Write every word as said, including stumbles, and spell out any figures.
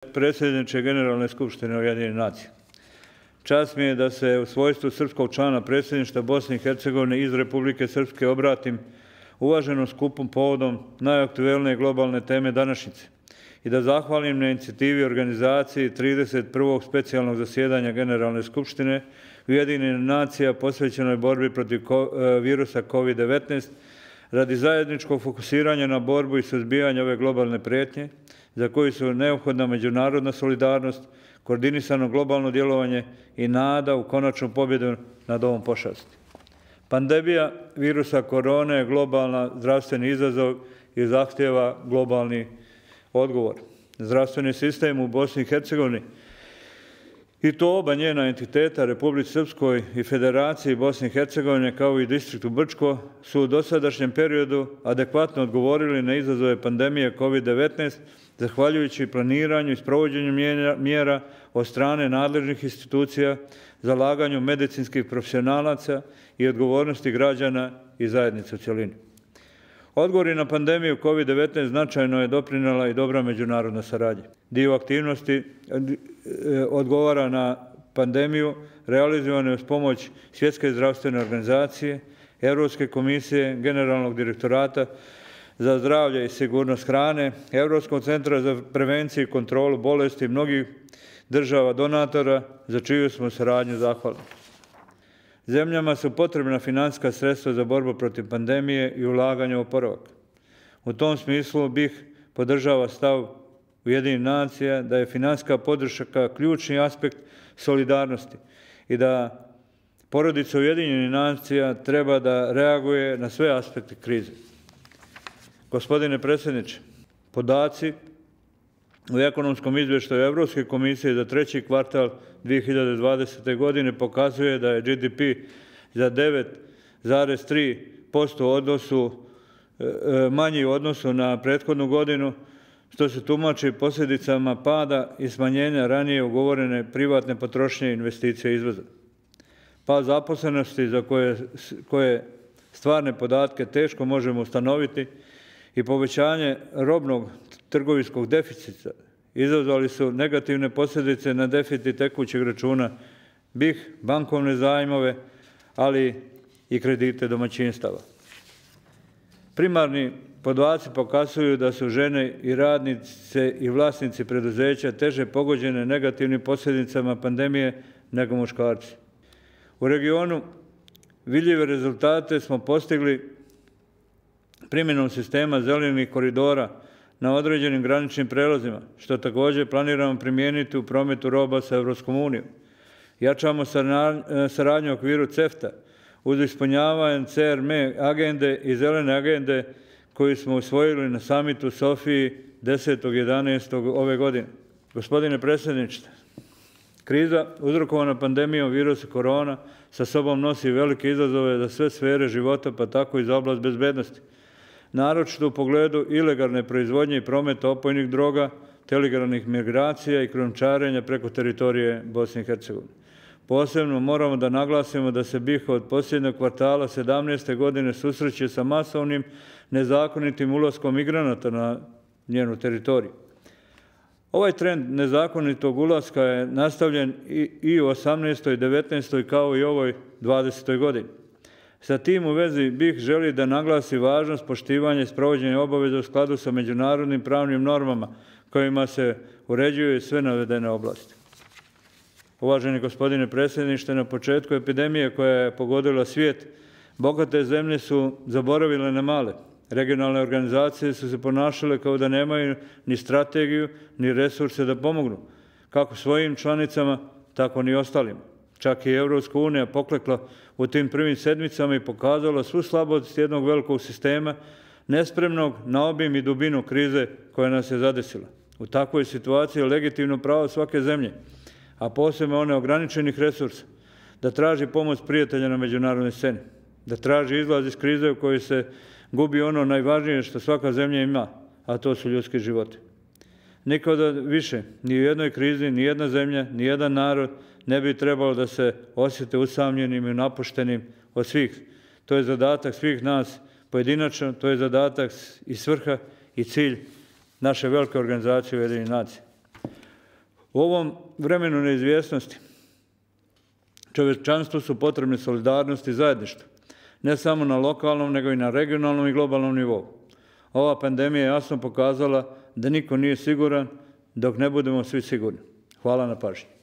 Predsjedniče Generalne skupštine Ujedinjenih nacija. Čast mi je da se u svojstvu srpskog člana predsjedništva Bosne i Hercegovine iz Republike Srpske obratim uvaženom skupom povodom najaktuelnije globalne teme današnjice i da zahvalim na inicijativi organizaciji trideset prvog specijalnog zasjedanja Generalne skupštine Ujedinjenih nacija posvećenoj borbi protiv virusa kovid devetnaest radi zajedničkog fokusiranja na borbu i suzbijanje ove globalne prijetnje za koju su neophodna međunarodna solidarnost, koordinisano globalno djelovanje i nada u konačnu pobjedu nad ovom pošasti. Pandemija virusa korone je globalna zdravstveni izazov i zahtjeva globalni odgovor. Zdravstveni sistem u Bosni i Hercegovini i to oba njena entiteta, Republici Srpskoj i Federaciji Bosne i Hercegovine kao i distriktu Brčko, su u dosadašnjem periodu adekvatno odgovorili na izazove pandemije kovid devetnaest, zahvaljujući planiranju i sprovođenju mjera od strane nadležnih institucija, zalaganju medicinskih profesionalaca i odgovornosti građana i zajednice u cjelini. Odgovori na pandemiju kovid devetnaest značajno je doprinijela i dobra međunarodna saradnja. Dio aktivnosti odgovara na pandemiju realizovane uz pomoć Svjetske zdravstvene organizacije, Europske komisije, Generalnog direktorata za zdravlje i sigurnost hrane, Europskog centra za prevenciju i kontrolu bolesti mnogih država donatora za čiju smo saradnju zahvalni. Zemljama su potrebna financijska sredstva za borbu protiv pandemije i ulaganje u oporavak. U tom smislu bih podržava stav Ujedinjenih nacija da je financijska podrška ključni aspekt solidarnosti i da porodica Ujedinjenih nacija treba da reaguje na sve aspekte krize. Gospodine predsjedniče, podaci u ekonomskom izvještaju Evropske komisije za treći kvartal dvije hiljade dvadesete. godine pokazuje da je G D P za devet zarez tri posto odnosu manji u odnosu na prethodnu godinu, što se tumači posljedicama pada i smanjenja ranije ugovorene privatne potrošnje investicije i izvoza. Pad zaposlenosti za koje, koje stvarne podatke teško možemo ustanoviti i povećanje robnog trgovinskog deficita izazvali su negativne posljedice na deficit tekućeg računa B I H, bankovne zajmove, ali i kredite domaćinstava. Primarni podaci pokazuju da su žene i radnice i vlasnici preduzeća teže pogođene negativnim posljedicama pandemije nego muškarci. U regionu vidljive rezultate smo postigli primjenom sistema zelenih koridora na određenim graničnim prelazima, što također planiramo primijeniti u prometu roba sa Evropskom unijom. Jačamo saradnju u okviru CEFTA uz ispunjavanje C R M agende i zelene agende koju smo usvojili na samitu u Sofiji desetog jedanaestog ove godine. Gospodine predsjedniče, kriza uzrokovana pandemijom virusa korona sa sobom nosi velike izazove za sve sfere života, pa tako i za oblast bezbednosti. Naročito u pogledu ilegalne proizvodnje i prometa opojnih droga, telegrafnih migracija i krijumčarenja preko teritorije Bosne i Hercegovine. Posebno moramo da naglasimo da se B I H od posljednjeg kvartala sedamnaeste. godine susreće sa masovnim nezakonitim ulaskom migranata na njenu teritoriju. Ovaj trend nezakonitog ulaska je nastavljen i u osamnaestoj. i devetnaestoj. kao i ovoj dvadesetoj. godini. Sa tim u vezi B I H želi da naglasi važnost poštivanja i sprovođenja obaveza u skladu sa međunarodnim pravnim normama kojima se uređuju sve navedene oblasti. Uvaženi gospodine predsjedniče, na početku epidemije koja je pogodila svijet, bogate zemlje su zaboravile na male. Regionalne organizacije su se ponašale kao da nemaju ni strategiju, ni resurse da pomognu, kako svojim članicama, tako ni ostalima. Čak i Evropska unija poklekla u tim prvim sedmicama i pokazala svu slabost jednog velikog sistema, nespremnog na obim i dubinu krize koja nas je zadesila. U takvoj situaciji je legitimno pravo svake zemlje, a posebno one ograničenih resursa, da traži pomoć prijatelja na međunarodnoj sceni, da traži izlaz iz krize u kojoj se gubi ono najvažnije što svaka zemlja ima, a to su ljudski životi. Nikada više, ni u jednoj krizi, ni jedna zemlja, ni jedan narod ne bi trebalo da se osjete usamljenim i napuštenim od svih. To je zadatak svih nas pojedinačno, to je zadatak i svrha i cilj naše velike organizacije Ujedinjenih nacija. U ovom vremenu neizvjesnosti čovječanstvu su potrebne solidarnost i zajedništvo, ne samo na lokalnom, nego i na regionalnom i globalnom nivou. Ova pandemija je jasno pokazala da niko nije siguran dok ne budemo svi sigurni. Hvala na pažnji.